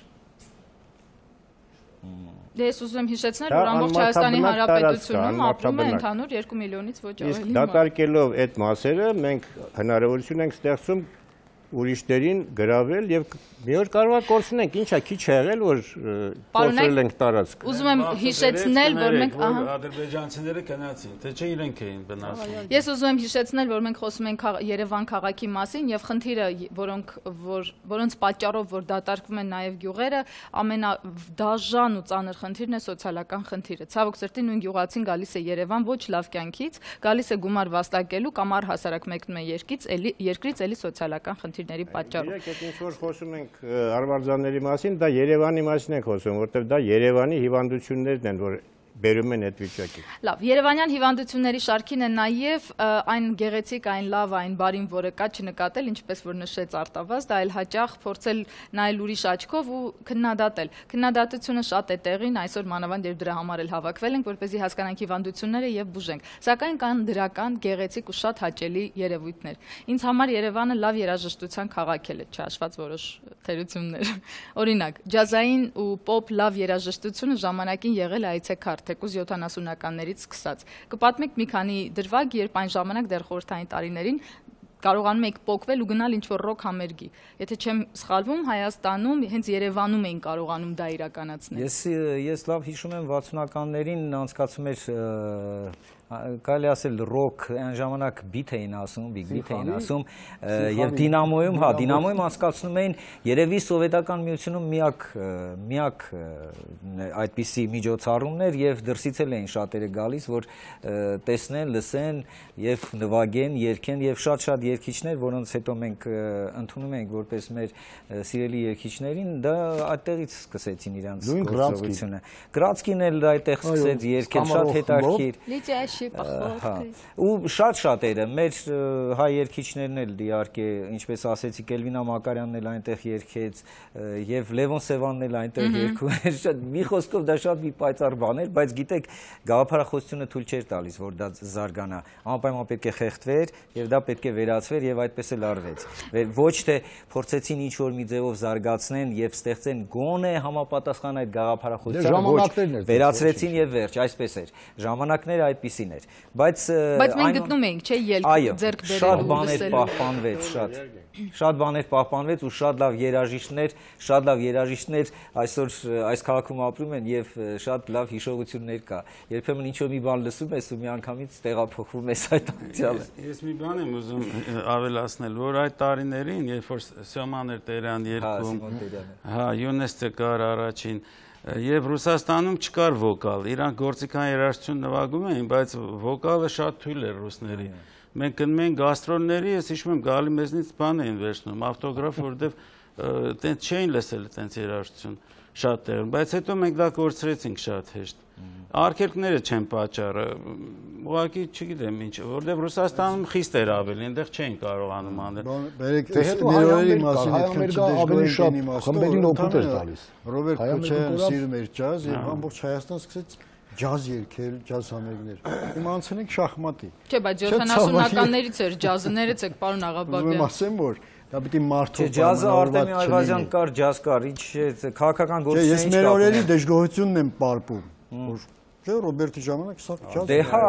Ես ուզում եմ հիշեցնել, որ ամբողջ Հայաստանի Հանրապետությունում ապրում է ընդհանուր 2 միլիոնից ոչ ավելի մարդ։ Իսկ դատարկելով այդ մասերը մենք հնարավորություն ենք ստեղծում ուրիշներին գրավել եւ մի օր կարող է կորցնենք, ինչա քիչ է եղել որ կորցրել ենք տարածք։ Ուզում եմ հիշեցնել, որ մենք ադրբեջանցիները գնացին, թե չէ իրենք էին վնասում։ Ես ուզում եմ հիշեցնել, որ մենք խոսում ենք Երևան քաղաքի մասին եւ խնդիրը, որոնց պատճառով որ դատարկվում են նաեւ գյուղերը, ամենադաժան ու ծանր խնդիրն է սոցիալական խնդիրը։ Ցավոք սրտի նույն գյուղացին գալիս է Երևան ոչ լավ կյանքից, գալիս է գումար վաստակելու կամ առհասարակ մեկնում է երկրից էլի սոցիալական խնդիրների պատճառով։ Իրեք այդ ինչ որ խոսում ենք արվարձանների մասին, դա Երևանի մասին ենք խոսում, որտեղ դա Երևանի հիվանդություններն են, որ բերում են այդ վիճակի։ Լավ, Երևանյան հիվանդությունների շարքին է նաև այն գեղեցիկ, այն լավ, այն բարին, որը կա չնկատել, ինչպես որ նշեց Արտավազդ, այլ հաճախ փորձել նայել ուրիշ աչքով ու քննադատել։ Քննադատությունը շատ է տեղին, այսօր մանավանդ երբ դրա համար էլ հավաքվել ենք, որպեսզի հասկանանք հիվանդությունները եւ բուժենք։ Սակայն կան դրական, գեղեցիկ ու շատ հաճելի երևույթներ։ Ինձ համար Երևանը լավ երաժշտության քաղաք է, չհաշված որոշ թերություններ։ Օրինակ, ջազային ու պոպ լավ երաժշտությունը ժամանակին եղել է այցեքարտ թեկուզ 70-ականներից սկսած։ Կպատմեք մի քանի դրվագ, երբ այն ժամանակ դեռ խորհրդային տարիներին կարողանում եք պոկվել ու գնալ ինչ-որ ռոք համերգի։ Եթե չեմ սխալվում, Հայաստանում, հենց Երևանում էին կարողանում դա իրականացնել։ Ես լավ հիշում եմ 60-ականներին անցկացում էր կարելի ասել ռոք այն ժամանակ բիթ էին ասում, բիգ բիթ էին ասում եւ Դինամոյում, Դինամոյում անցկացնում էին երևի սովետական միությունում միակ այդպիսի միջոցառումներ եւ դրսից էլ էին շատերը գալիս, որ տեսնեն, լսեն եւ նվագեն, երգեն եւ շատ երգիչներ, որոնց հետո մենք ընդունում ենք որպես մեր սիրելի երգիչներին, դա այդտեղից սկսեցին իրանց գործողությունը։ Գրացկին էլ այդտեղ սկսեց երգել, շատ հետաքրքիր։ Ու շատ-շատերը, մեր հայ երգիչներն էլ իհարկե, ինչպես ասեցի, Կելվինա Մակարյանն էլ այնտեղ երգեց եւ Լևոն Սևանն էլ այնտեղ երգում էր։ Մի խոսքով դա շատ մի պայծառ բան էր, բայց գիտեք, գաղափարախոսությունը թույլ չէր տալիս, որ դա զարգանա։ Անպայման պետք է խեղդվեր եւ դա պետք է վերացվեր եւ այդպես էլ արվեց։ Ոչ թե փորձեցին ինչ-որ մի ձևով զարգացնեն եւ ստեղծեն գոնե համապատասխան այդ գաղափարախոսությանը, ոչ, վերացրեցին եւ վերջ, այսպես էր։ Ժամանակները այդպիսին էր, բայց մենք գտնում էինք, չէ՞, ելք ձեռք բերել, շատ բաներ պահպանվեց, շատ բաներ պահպանվեց ու շատ լավ երաժիշտներ այսօր այս քաղաքում ապրում են եւ շատ լավ հիշողություններ կա։ Երբեմն ինչ-որ մի բան լսում ես ու միանգամից տեղափոխվում ես այդ անցյալը։ Ես մի բան եմ ուզում ավելացնել, որ այդ տարիներին, երբ որ Սյոման էր Տերյան երգում, Յունեսը կար առաջին, եւ Ռուսաստանում չկար վոկալ, իրանք գործիքային երաժշտություն նվագում էին, բայց վոկալը շատ թույլ էր ռուսների։ Մենք գնում ենք գաստրոլների, ես հիշում եմ գալի մեզնից բան էին վերցնում, ավտոգրաֆ, որովհետեւ տենց չէին լսել տենց երաժշտություն շատ տեղում, բայց հետո մենք դա կորցրեցինք շատ հեշտ։ Արգելքները չեն պատճառը, ուղղակի չգիտեմ ինչ, որովհետև Ռուսաստանում խիստ էր ավելի, այնտեղ չէին կարողանում անել։ Բերեք, մեր օրերի մասին այդքան չդժգոհի խմբերին օգուտ էր տալիս։ Ռոբերտ Քոչարյանը սիրում էր ջազ եւ ամբողջ Հայաստան սկսեց ջազ երգել, ջազ համերգներ։ Հիմա անցնենք շախմատի։ Չէ, բայց 70-ականներից էր ջազը, ներեցեք, պարոն Աղաբաբյան։ Ուզում ասեմ, որ դա պիտի մարդու ջազը Արտեմի Այվազյան կար, ջազ կար, ինչ քաղաքական գործիքներ։ Ես մեր օրերի դժգոհությունն եմ պարպում։ Ռոբերտի ժամանակ սա ջազ։ Դե հա,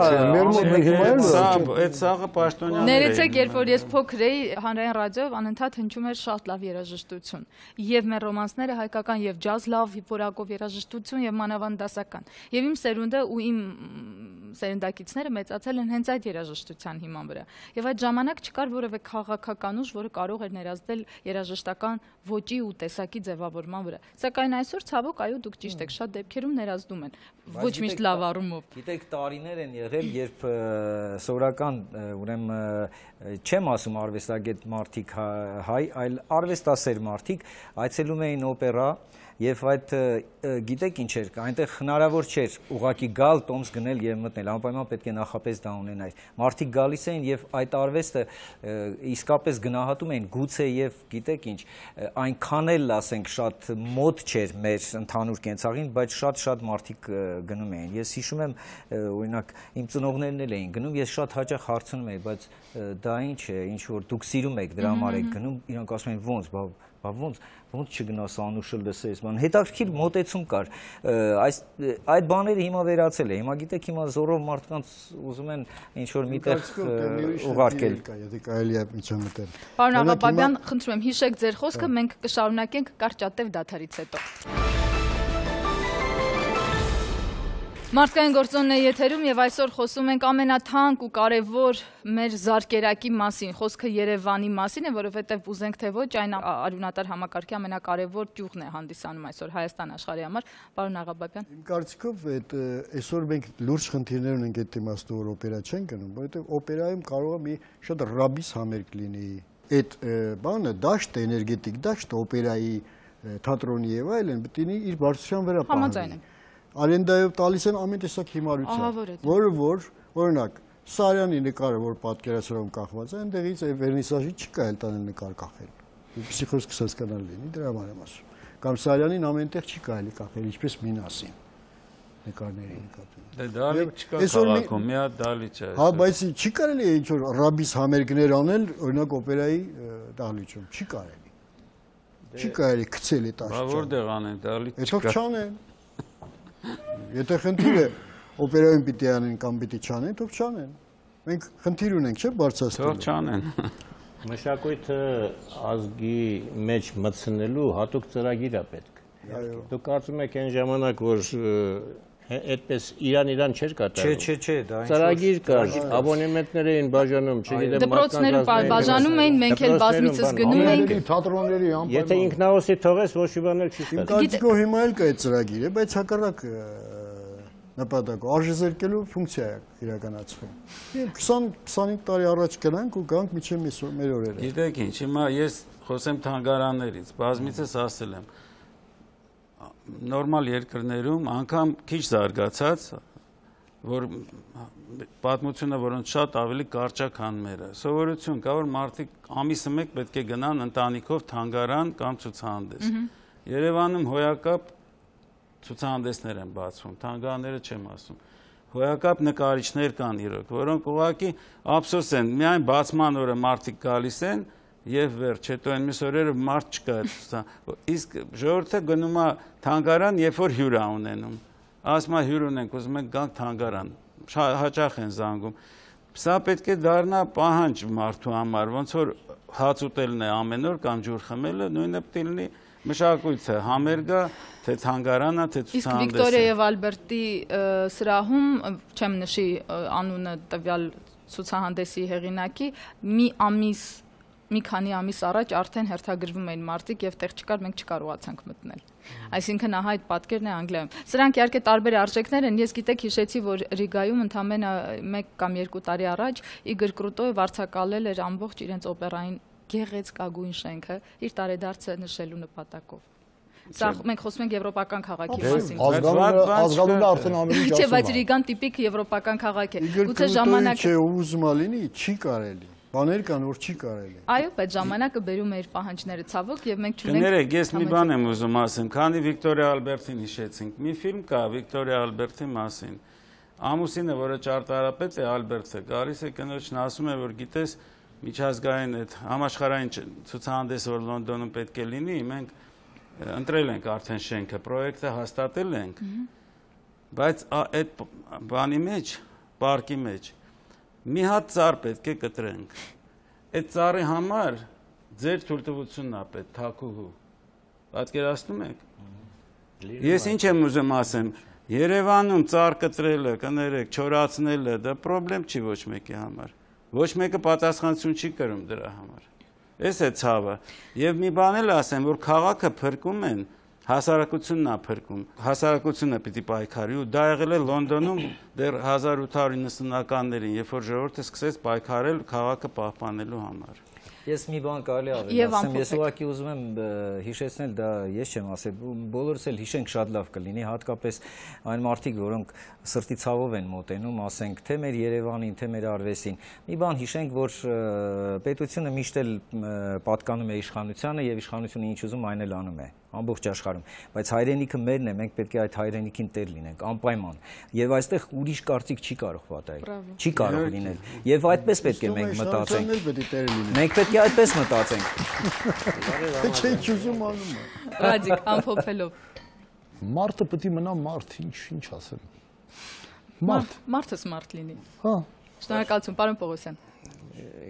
այդ սաղը պաշտոնյաներ։ Ներեցեք, երբ որ ես փոքր էի, հանրային ռադիոյով անընդհատ հնչում էր շատ լավ երաժշտություն։ Եվ մեր ռոմանսները հայկական եւ ջազ լավ որակով երաժշտություն եւ մանավանդ դասական։ Եվ իմ սերունդը ու իմ սերնդակիցները մեծացել են հենց այդ երաժշտության հիման վրա։ Եվ այդ ժամանակ չկար որևէ քաղաքական ուժ, որը կարող էր ներազդել երաժշտական ոճի ու տեսակի ձևավորման վրա։ Սակայն այսօր ցավոք, այո, դուք ճիշտ եք, շատ դեպքերում ներազդում են։ Ոչ միշտ լավ առումով։ Գիտեք, տարիներ են եղել, երբ սովորական, ուրեմն չեմ ասում արվեստագետ մարդիկ հայ, այլ արվեստասեր մարդիկ այցելում էին օպերա եւ այդ գիտեք ինչ էր, այնտեղ հնարավոր չէր ուղակի գալ, տոմս գնել եւ մտնել, անպայման պետք է նախապես դա ունենայր։ Մարդիկ գալիս էին եւ այդ արվեստը իսկապես գնահատում էին, գուցե եւ գիտեք ինչ, այնքան էլ ասենք շատ մոտ չէր մեր ընդհանուր կենցաղին, բայց շատ մարդիկ գնում էին։ Ես հիշում եմ, օրինակ, իմ ծնողներն էլ էին գնում, ես շատ հաճախ հարցնում էի, բայց դա ինչ է, ինչ որ դուք սիրում եք, դրա համար եք գնում, իրանք ասում են ոնց, ոնց չգնաս Անուշը լսես, բան հետաքրքիր մոտեցում կար, այդ բաները հիմա վերացել է, հիմա գիտեք հիմա զորով մարդկանց ուզում են ինչ-որ միտեղ ուղարկել։ Եթե կարելի է միջամտել։ Պարոն Աղաբաբյան, խնդրում եմ հիշեք ձեր խոսքը, մենք կշարունակենք կարճատև դադարից հետո։ Մարդկային գործոնն է եթերում եւ այսօր խոսում ենք ամենաթանկ ու կարեւոր մեր զարկերակի մասին, խոսքը Երևանի մասին է, որովհետեւ ուզենք թե ոչ այն արյունատար համակարգի ամենակարևոր ճյուղն է հանդիսանում այսօր Հայաստան աշխարհի համար, պարոն Աղաբաբյան։ Իմ կարծիքով այսօր մենք լուրջ խնդիրներ ունենք այդ իմաստով, որ օպերա չեն գնում, որովհետեւ օպերայում կարող է մի շատ ռաբիս համերգ լինի։ Այդ բանը դաշտ էներգետիկ դաշտ օպերայի թատրոնի եւ այլն պետք է իր բարձրության վրա պահի։ Արենդայով տալիս են ամեն տեսակ հիմարություն, որը որ օրինակ Սարյանի նկարը, որ պատկերասրահում կախված է, այնտեղից վերնիսաժի չի կարելի տանել նկար կախել։ Ինչպեսի խոսքը հասկանալ լինի, դրա համար եմ ասում։ Կամ Սարյանին ամենտեղ չի կարելի կախել, ինչպես Մինասին նկարների նկատմամբ։ Դե դալիճ չկա քաղաքում, մի հատ դալիճ է։ Հա, բայց չի կարելի ինչ որ ռաբիս համերգներ անել, օրինակ օպերայի դալիճում, չի կարելի։ Չի կարելի գցել այդ աշխարհը։ Բա որտեղ անեն դալիճ։ Այդով չանեն։ Եթե խնդիրը օպերայում պիտի անեն կամ պիտի չանեն, թող չանեն։ Մենք խնդիր ունենք, չէ՞, բարձրացնելու։ Թող չանեն։ Մշակույթը ազգի մեջ մտցնելու հատուկ ծրագիր է պետք։ Դուք կարծում եք այն ժամանակ, որ այդպես իրան չէր կատարում։ Չէ, դա ծրագիր կար, աբոնեմենտներ էին բաժանում, չգիտեմ, դպրոցները բաժանում էին, մենք էլ բազմիցս գնում էինք։ Թատրոնների Եթե ինքնահոսի թողես, ոչ մի բան էլ չի Իմ ստացվում։ կարծիքով հիմա էլ կա այդ ծրագիրը, բայց հակառակ նպատակով արժեզրկելու ֆունկցիա է իրականացվում։ 20-25 տարի առաջ գնանք ու գանք մինչև մեր օրերը։ Գիտեք ինչ, հիմա ես խոսեմ թանգարաններից, բազմիցս ասել եմ, նորմալ երկրներում անգամ քիչ զարգացած, որ պատմությունը որոնց շատ ավելի կարճ է, քան մերը։ Սովորություն կա, որ մարդիկ ամիսը մեկ պետք է գնան ընտանիքով թանգարան կամ ցուցահանդես։ Երևանում հոյակապ ցուցահանդեսներ են բացվում, թանգարանները չեմ ասում։ Հոյակապ նկարիչներ կան իրոք, որոնք ուղղակի ափսոս են, միայն բացման օրը մարդիկ գալիս են եւ վերջ, հետո այն մյուս օրերը մարդ չկա։ Իսկ ժողովուրդը գնում է թանգարան, երբ որ հյուր է ունենում։ Ասում է հյուր ունենք, ուզում ենք գանք թանգարան, հաճախ են զանգում։ Սա պետք է դառնա պահանջ մարդու համար, ոնց որ հաց ուտելն է ամեն օր կամ ջուր խմելը, նույնը պետք է լինի մշակույթը, համերգը, թե թանգարանը, թե ցուցահանդեսը։ Իսկ Վիկտորիա եւ Ալբերտի սրահում, չեմ նշի անունը տվյալ ցուցահանդեսի հեղինակի, մի քանի ամիս առաջ արդեն հերթագրվում էին մարդիկ եւ տեղ չկար, մենք չկարողացանք մտնել։ Այսինքն ահա այդ պատկերն է Անգլիայում։ Սրանք իհարկե տարբեր արժեքներ են։ Ես գիտեք հիշեցի, որ Ռիգայում ընդամենը 1 կամ 2 տարի առաջ Իգոր Կրուտոևը արձակալել էր ամբողջ իրենց օպերային գեղեցկագույն շենքը իր տարեդարձը նշելու նպատակով։ Սա մենք խոսում ենք եվրոպական քաղաքի մասին։ Ազգանունը արդեն ամեն ինչ ասում է։ Չէ, բայց Ռիգան տիպիկ եվրոպական քաղաք է։ Գուցե ժամանակը չէ, ուզում է լինի, չի կարելի։ Բաներ կան, որ չի կարելի։ Այո, բայց ժամանակը բերում է իր պահանջները ցավոք եւ մենք չունենք։ Կներեք, ես մի բան եմ ուզում ասեմ, քանի Վիկտորիա Ալբերտին հիշեցինք։ Մի ֆիլմ կա Վիկտորիա Ալբերտի մասին։ Ամուսինը, որը ճարտարապետ է, Ալբերտը, գալիս է կնոջն ասում է, որ գիտես, միջազգային այդ համաշխարհային ցուցահանդեսը, որ Լոնդոնում պետք է լինի, մենք ընտրել ենք արդեն շենքը, պրոյեկտը հաստատել ենք։ Բայց այդ բանի մեջ, պարկի մեջ մի հատ ծառ պետք է կտրենք։ Այդ ծառի համար ձեր թույլտվությունն է պետք, թաքուհու։ Պատկերացնում եք։ Ես ինչ եմ ուզում ասեմ, Երևանում ծառ կտրելը, կներեք, չորացնելը, դա խնդրեմ չի ոչ մեկի համար։ Ոչ մեկը պատասխանատվություն չի կրում դրա համար։ Էս է ցավը։ Եվ մի բան էլ ասեմ, որ քաղաքը փրկում են, հասարակությունն է փրկում, հասարակությունը պիտի պայքարի ու դա եղել է Լոնդոնում դեռ 1890-ականներին, երբ որ ժողովուրդը սկսեց պայքարել քաղաքը պահպանելու համար։ Ես մի բան կարելի ավելացնեմ, ես ուղղակի ուզում եմ հիշեցնել, դա ես չեմ ասել, բոլորս էլ հիշենք շատ լավ կլինի, հատկապես այն մարդիկ, որոնք սրտի ցավով են մոտենում, ասենք, թե մեր Երևանին, թե մեր արվեստին։ Մի բան հիշենք, որ պետությունը միշտ էլ պատկանում է իշխանությանը եւ իշխանությունը ինչ ուզում այն էլ անում է։ ամբողջ աշխարհում, բայց հայրենիքը մերն է, մենք պետք է այդ հայրենիքին տեր լինենք, անպայման։ Եվ այստեղ ուրիշ կարծիք չի կարող պատահել, չի կարող լինել։ Եվ այդպես պետք է մենք մտածենք։ Մենք պետք է այդպես մտածենք։ Չեք ուզում անում։ Ռադիկ, ամփոփելով։ Մարդը պետք է մնա մարդ, ինչ ասեմ։ Մարդը սմարթ լինի։ Հա։ Շնորհակալություն, պարոն Պողոսյան։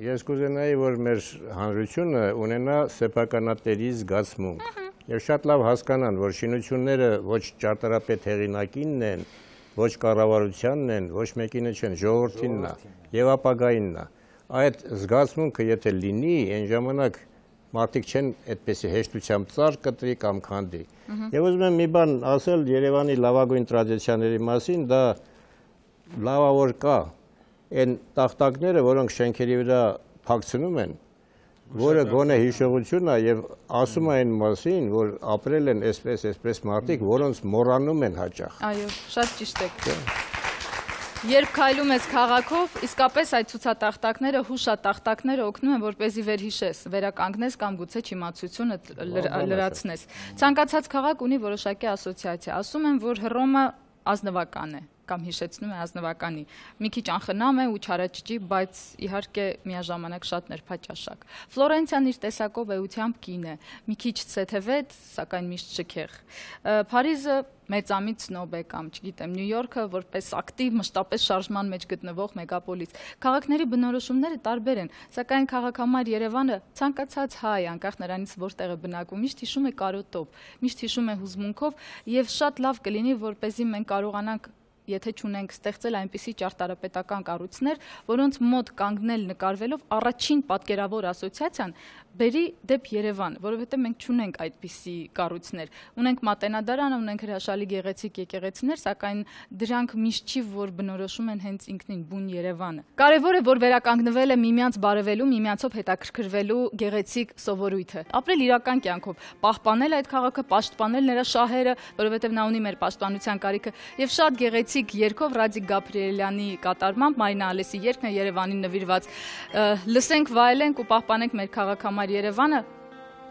Ես կուզենայի, որ մեր հանրությունը ունենա սեփականատերի զգացմունք եւ շատ լավ հասկանան, որ շինությունները ոչ ճարտարապետ հեղինակինն են, ոչ կառավարությանն են, ոչ մեկինը չեն, ժողովրդինն է եւ ապագայինն է։ Այդ զգացմունքը եթե լինի, այն ժամանակ մարդիկ չեն այդպեսի հեշտությամբ ծառ կտրի կամ քանդի։ Եվ ուզում եմ մի բան ասել Երևանի լավագույն տրադիցիաների մասին, դա լավա որ կա այն տախտակները, որոնք շենքերի վրա փակցնում են, որը գոնե հիշողություն է եւ ասում է այն մասին, որ ապրել են այսպես մարդիկ, որոնց մոռանում են հաճախ։ Այո, շատ ճիշտ եք։ Երբ քայլում ես քաղաքով, իսկապես այդ ցուցատախտակները, հուշատախտակները օգնում են, որպեսզի վերհիշես, վերականգնես կամ գուցե չիմացությունը լրացնես։ Ցանկացած քաղաք ունի որոշակի ասոցիացիա։ Ասում են, որ Հռոմը ազնվական է կամ հիշեցնում է ազնվականի։ Մի քիչ անխնամ է ու չարաճճի, բայց իհարկե միաժամանակ շատ ներփաճաշակ։ Ֆլորենցիան իր տեսակով էությամբ կին է, մի քիչ ցեթևետ, սակայն միշտ շքեղ։ Փարիզը մեծամիտ սնոբ է կամ, չգիտեմ, Նյու Յորքը որպես ակտիվ մշտապես շարժման մեջ գտնվող մեգապոլիս։ Քաղաքների բնորոշումները տարբեր են, սակայն քաղաքամար Երևանը ցանկացած հայ, անկախ նրանից որտեղ է բնակվում, միշտ հիշում է կարոտով, միշտ հիշում է հուզմունքով եւ շատ լավ կլինի, որպեսզի մենք կարողանանք եթե չունենք ստեղծել այնպիսի ճարտարապետական կառույցներ, որոնց մոտ կանգնել նկարվելով առաջին պատկերավոր ասոցիացիան բերի դեպ Երևան, որովհետև մենք չունենք այդպիսի կառույցներ։ Ունենք Մատենադարանը, ունենք հրաշալի գեղեցիկ եկեղեցիներ, սակայն դրանք միշտ չի, որ բնորոշում են հենց ինքնին բուն Երևանը։ Կարևոր է, որ վերականգնվել է միմյանց բարևելու, միմյանցով հետաքրքրվելու գեղեցիկ սովորույթը։ Ապրել իրական կյանքով, պահպանել այդ քաղաքը, պաշտպանել նրա շահերը, որովհետև նա ունի մեր պաշտպանության կարիքը, եւ շատ գեղեցիկ երգով Ռադիկ Գաբրիելյանի կատարմամբ Մարինա Ալեսի երգն է Երևանին նվիրված։ Լսենք, վայելենք ու պահպանենք մեր քաղաքամար Երևանը,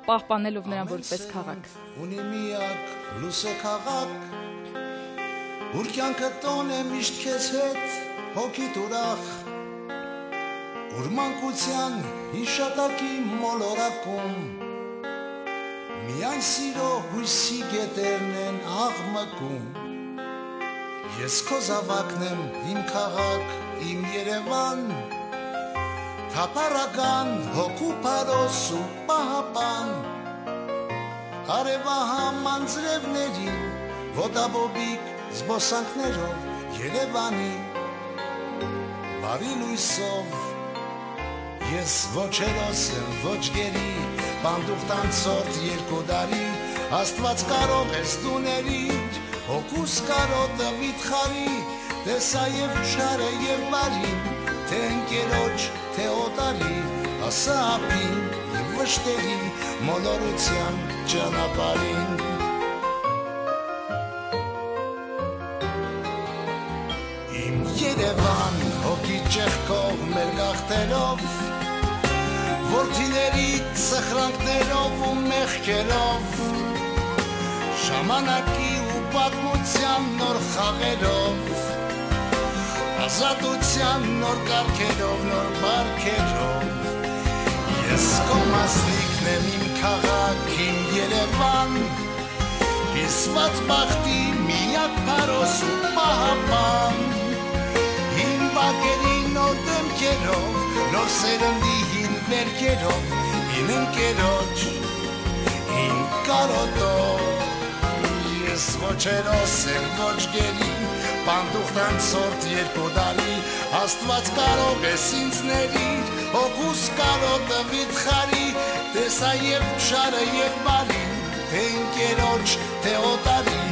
պահպանելով նրան որպես քաղաք։ Ունի միակ լուսե քաղաք, ուր կյանքը տոն է միշտ քեզ հետ, հոգիդ ուրախ, ուր մանկության հիշատակի մոլորակում, միայն սիրո հույսի գետերն են աղմկում, ես քո զավակն եմ, իմ քաղաք, իմ Երևան, թափառական հոգու փարոս ու պահապան, արևահամ անձրևներին, ոտաբոբիկ զբոսանքներով Երևանի, բարի լույսով, ես ոչ հերոս եմ, ոչ գերի, բանդուղ տանցորդ երկու դարի, Աստված կարող ես դու ներիր, հոգուս կարոտը վիթխարի, տեսա և չարը և բարին, թե ընկերոջ, թե օտարի, ասա ապին և վշտերի, մոլորության ճանապարհին։ Իմ Երևան հոգի ճեղքով մեր գաղթերով, որդիների սխրանքներով ու մեղքերով, ժամանակի ու պատմության նոր խաղերով, ազատության նոր կարգերով, նոր բարքերով, ես քո մասնիկն եմ, իմ քաղաք, իմ Երևան, հիսված բախտի միակ փարոս ու պահապան, իմ բակերի նոր դեմքերով, նոր սերնդի հին վերքերով, իմ ընկերոջ, իմ կարոտով, ես ոչ հերոս եմ, ոչ գերի, պանդուղ տանցորդ երկու դարի, Աստված կարող ես ինձ ներիր, հոգուս կարոտը վիթխարի, տեսա և չարը և բարին, թե ընկերոջ, թե օտարի,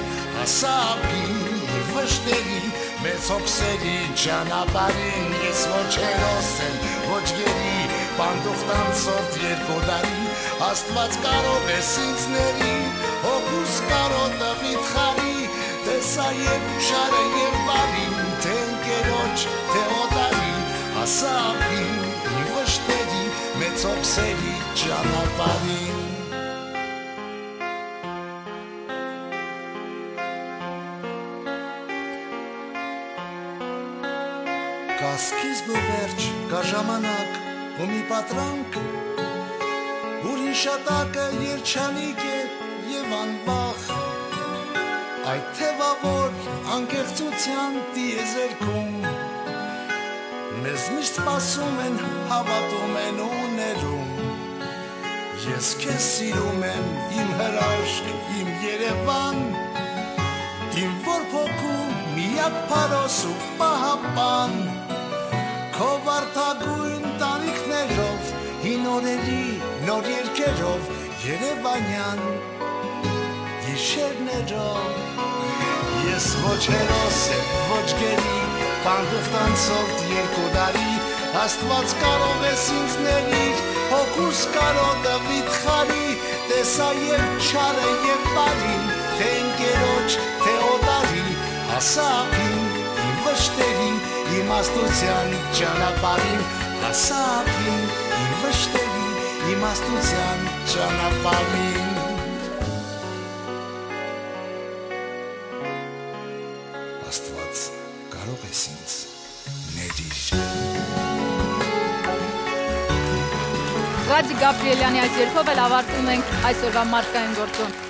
ասա ապին և վշտերի, մեծ հոգսերի ճանապարհին, ես ոչ հերոս եմ, ոչ գերի, պանդուղ տանցորդ երկու դարի, Աստված կարող ես ինձ ներիր, հոգուս կարոտը վիթխարի, տեսա և չարը և բարին, թե ընկերոջ, թե օտարի, ասա ապին և վշտերի, մեծ հոգսերի ճանապարհին։ Կա սկիզբ ու վերջ, կա ժամանակ ու մի պատրանք, որ հիշատակը երջանիկ է եւ անվախ, այդ թևավոր անկեղծության տիեզերքում մեզ միշտ սպասում են, հավատում են ու ներում, ես քեզ սիրում եմ, իմ հրաշք, իմ Երևան, իմ որփոքու միակ փարոս ու պահապան, քո վարդագույն տանիքներով, հին օրերի նոր երգերով, Երևանյան գիշերներով, ես ոչ հերոս եմ, ոչ գերի, պանդուխտանցորդ երկու դարի, Աստված կարող ես ինձ ներիր, հոգուս կարոտը վիթխարի, տեսա և չարը և բարին, թե ընկերոջ, թե օտարի, հասա ափին, իմ վշտերին, իմաստության ճանապարհին, հասա ափին, իմ վշտերին, իմաստության ճանապարհին։ Աստված կարող ես ինձ ներիր։ Ռադի Գաբրիելյանի այս երգով էլ ավարտում ենք այսօրվա մարդկային գործոն։